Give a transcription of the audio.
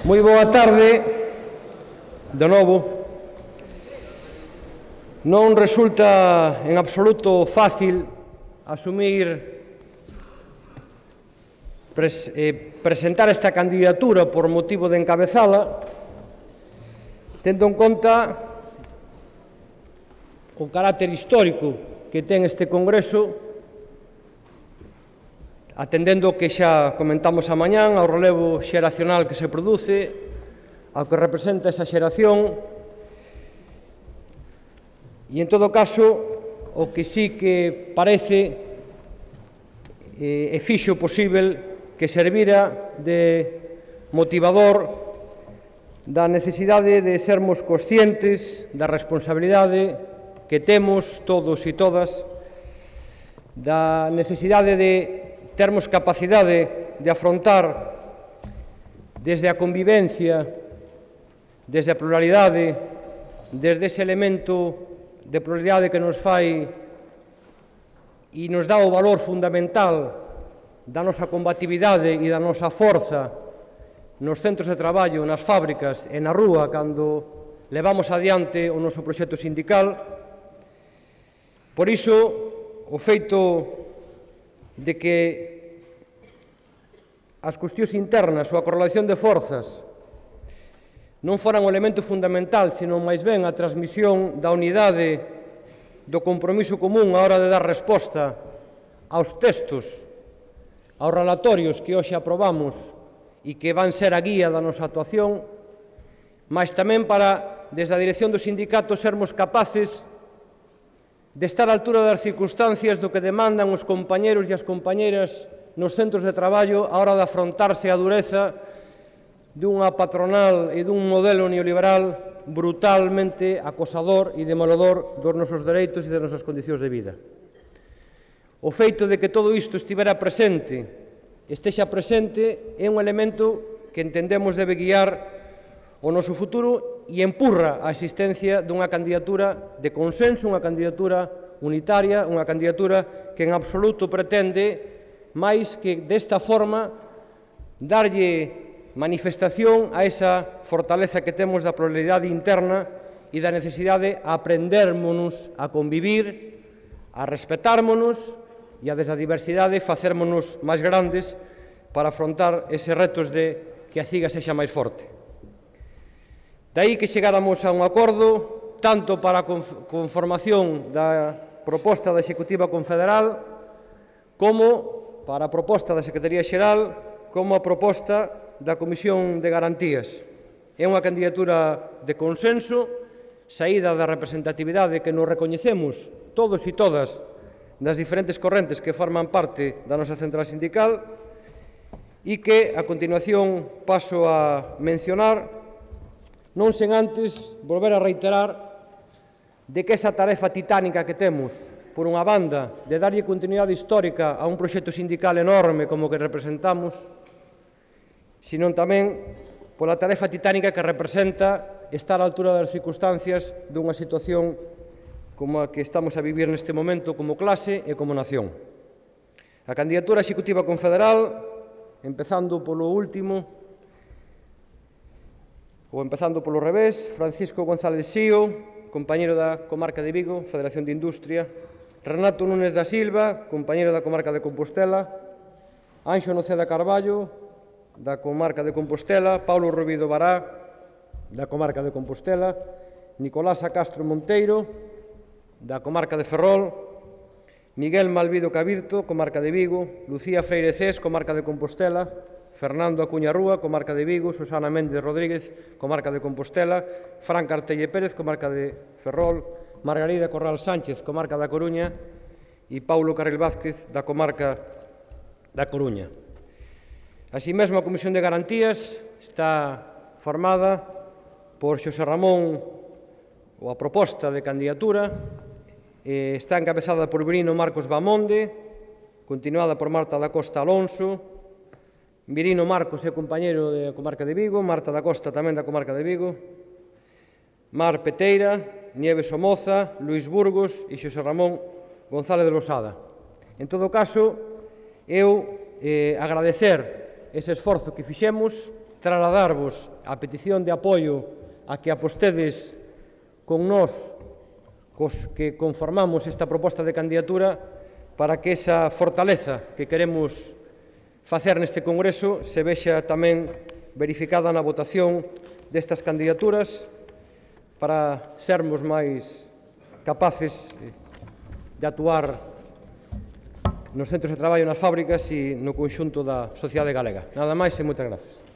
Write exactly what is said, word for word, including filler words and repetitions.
Moi boa tarde, de novo. Non resulta en absoluto fácil asumir, pres, eh, presentar esta candidatura por motivo de encabezala, tendo en conta o carácter histórico que ten este Congreso, atendendo o que xa comentamos a mañán, ao relevo xeracional que se produce, ao que representa esa xeración, e, en todo caso, o que sí que parece eh, e fixo posible que servira de motivador da necesidade de sermos conscientes da responsabilidade que temos todos e todas, da necesidade de termos capacidade de afrontar desde a convivencia, desde a pluralidade, desde ese elemento de pluralidade que nos fai e nos dá o valor fundamental da nosa combatividade e da nosa forza nos centros de traballo, nas fábricas e na rúa cando levamos adiante o noso proxecto sindical. Por iso, o feito de que as cuestións internas ou a correlación de forzas non foran o elemento fundamental, senón máis ben a transmisión da unidade do compromiso común á hora de dar resposta aos textos, aos relatorios que hoxe aprobamos e que van ser a guía da nosa actuación, mas tamén para, desde a dirección do sindicato, sermos capaces de estar á altura das circunstancias do que demandan os compañeros e as compañeras nos centros de traballo á hora de afrontarse a dureza dunha patronal e dun modelo neoliberal brutalmente acosador e demoledor dos nosos dereitos e das nosas condicións de vida. O feito de que todo isto estivera presente, estexa presente, é un elemento que entendemos debe guiar o noso futuro e empurra a existencia dunha candidatura de consenso, unha candidatura unitaria, unha candidatura que en absoluto pretende máis que desta forma darlle manifestación a esa fortaleza que temos da pluralidade interna e da necesidade de aprendérmonos a convivir, a respetármonos e a desde a diversidade facérmonos máis grandes para afrontar eses retos de que a ciga sexa máis forte. Daí que chegáramos a un acordo tanto para a conformación da proposta da Executiva Confederal como para a proposta da Secretaría Xeral como a proposta da Comisión de Garantías. É unha candidatura de consenso, saída da representatividade que nos recoñecemos todos e todas das diferentes correntes que forman parte da nosa central sindical e que, a continuación, paso a mencionar, non sen antes volver a reiterar de que esa tarefa titánica que temos, por unha banda, de darlle continuidade histórica a un proxecto sindical enorme como que representamos, senón tamén pola tarefa titánica que representa estar á altura das circunstancias dunha situación como a que estamos a vivir neste momento como clase e como nación. A candidatura executiva confederal, empezando polo último, ou empezando polo revés, Francisco González Sío, compañeiro da comarca de Vigo, Federación de Industria, Renato Núñez da Silva, compañeiro da comarca de Compostela, Anxo Noceda Carballo, da comarca de Compostela, Paulo Rubido Bará, da comarca de Compostela, Nicolás Castro Monteiro, da comarca de Ferrol, Miguel Malvido Cabirto, comarca de Vigo, Lucía Freire Cés, comarca de Compostela, Fernando Acuña Rúa, comarca de Vigo, Susana Méndez Rodríguez, comarca de Compostela, Fran Cartelle Pérez, comarca de Ferrol, Margarida Corral Sánchez, comarca da Coruña, e Paulo Carril Vázquez, da comarca da Coruña. Así mesmo, a Comisión de Garantías está formada por Xosé Ramón, ou a proposta de candidatura, eh, está encabezada por Virino Marcos Bamonde, continuada por Marta da Costa Alonso. Virino Marcos é compañeiro da comarca de Vigo, Marta da Costa tamén da comarca de Vigo, Mar Peteira, Nieves Somoza, Luís Burgos e Xosé Ramón González de Losada. En todo caso, eu eh, agradecer ese esforzo que fixemos trasladarvos a petición de apoio a que apostedes con nós, cos que conformamos esta proposta de candidatura, para que esa fortaleza que queremos facer neste Congreso se vexa tamén verificada na votación destas candidaturas, para sermos máis capaces de actuar nos centros de traballo, nas fábricas e no conxunto da sociedade galega. Nada máis e moitas gracias.